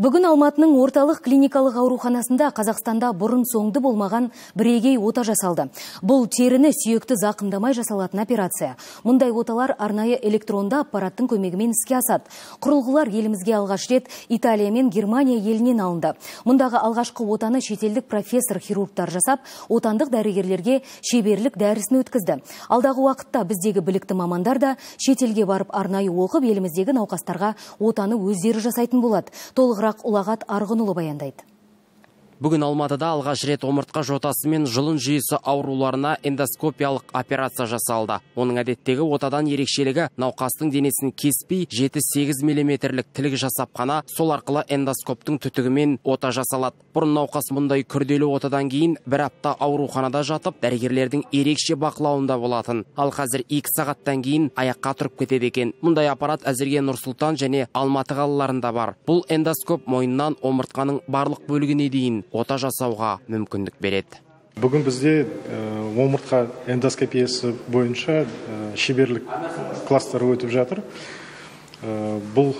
Бүгін Алматының орталық клиникалық ауруханасында Қазақстанда бұрын соңды болмаған бірегей ота жасалды. Бұл теріні сүйекті зақымдамай жасалатын операция. Мұндай оталар арнайы электронды аппараттың көмегімен іске асады. Құрылғылар елімізге алғаш рет Италия мен Германия елінен алынды. Мұндағы алғашқы отаны шетелдік профессор-хирургтар жасап, отандық дәрігерлерге шеберлік дәрісін өткізді. Алдағы уақытта біздегі білікті мамандар да шетелге барып арнайы оқып, еліміздегі науқастарға отаны өздері жасайтын болады. Толығырақ Ұлағат Арғынұлы баяндайды. Бүгін Алматыда алғаш рет омыртқа жотасы мен жұлын жүйесі ауруларына эндоскопиялық операция жасалды. Оның әдеттегі отадан ерекшелігі науқастың денесін кеспей 7-8 мм тілік жасап қана сол арқылы эндоскоптың түтігімен ота жасалады. Бұрын науқас мұндай күрделі отадан кейін бір апта ауруханада жатып, дәрігерлердің ерекше бақылауында болатын. Ал қазір 2 сағаттан кейін аяққа тұрып кетеді екен. Мұндай аппарат әзірге Нұр-Сұлтан және Алматы қалаларында бар. Бұл эндоскоп мойнынан омыртқаның барлық бөлігіне дейін ота жасауға мүмкіндік береді. Бүгін бізде омыртқа эндоскопиясы бойынша шеберлік кластары өтіп жатыр. Бұл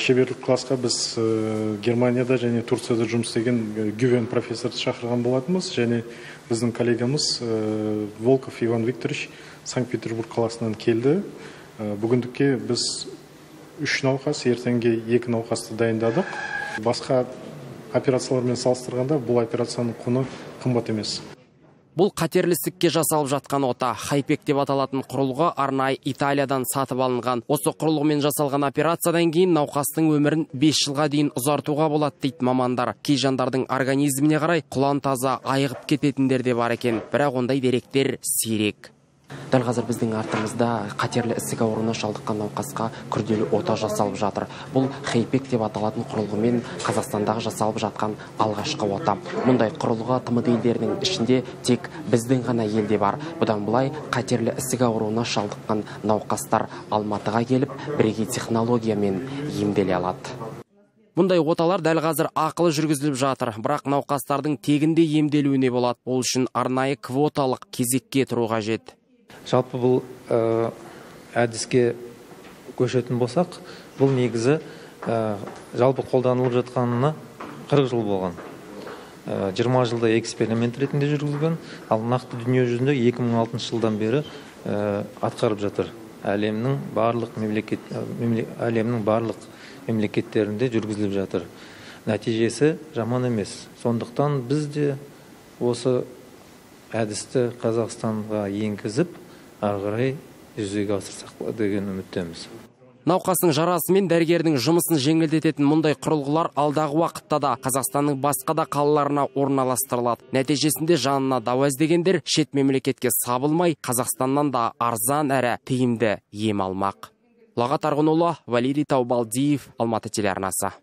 шеберлік классқа біз Германияда және Турцияда жұмыс істеген Гювен профессорды шақырған болатынбыз, және біздің коллегамыз Волков Иван Викторович Санкт-Петербург қаласынан келді. Бүгіндікке біз 3 науқас, ертеңге 2 науқасты дайындадық. Басқа операциялармен салыстырғанда бұл операцияның құны қымбат емес. Бұл қатерлі ісікке жасалып жатқан ота. Хайпек деп аталатын құрылғы арнайы Италиядан сатып алынған. Осы құрылғымен жасалған операциядан кейін науқастың өмірін 5 жылға дейін ұзартуға болады дейді мамандар. Кей жандардың организміне қарай құлан таза айығып кететіндер де бар екен. Бірақ ондай деректер сирек. Дәл қазір біздің артымызда қатерлі ісік ауруына шалдыққан науқасқа күрделі ота жасалып жатыр. Бұл хайпек деп аталатын құрылғымен Қазақстандағы жасалып жатқан алғашқы ота. Мұндай құрылғы тмд елдерінің ішінде тек біздің ғана елде бар. Бұдан былай қатерлі ісік ауруына шалдыққан науқастар Алматыға келіп, бірегей технологиямен емделе алады. Мұндай оталар дәл қазір ақылы жүргізіліп жатыр, бірақ науқастардың тегінде емделуіне болады. Ол үшін арнайы квоталық кезекке тұру қажет. Жалпы бұл әдіске көшетін болсақ, бұл негізі жалпы қолданылып жатқанына 40 жыл болған. 20 жылда эксперимент ретінде жүргізілген, ал нақты дүние жүзінде 2006 жылдан бері атқарып жатыр. Әлемнің барлық мемлекеттерінде жүргізіліп жатыр. Нәтижесі жаман емес. Сондықтан біз де осы әдісті Қазақстанға енгізіп, ағырай жүзеге асырсақ деген үміттеміз. Науқастың жарасы мен дәрігердің жұмысын жеңілдететін мұндай құрылғылар алдағы уақытта да Қазақстанның басқа да қалаларына орналастырылады. Нәтижесінде жанына дауа іздегендер шет мемлекетке сабылмай, Қазақстаннан да арзан әрі тиімді ем алмақ. Ұлағат Арғынұлы, Валерий Таубалдиев, Алматы телеарнасы.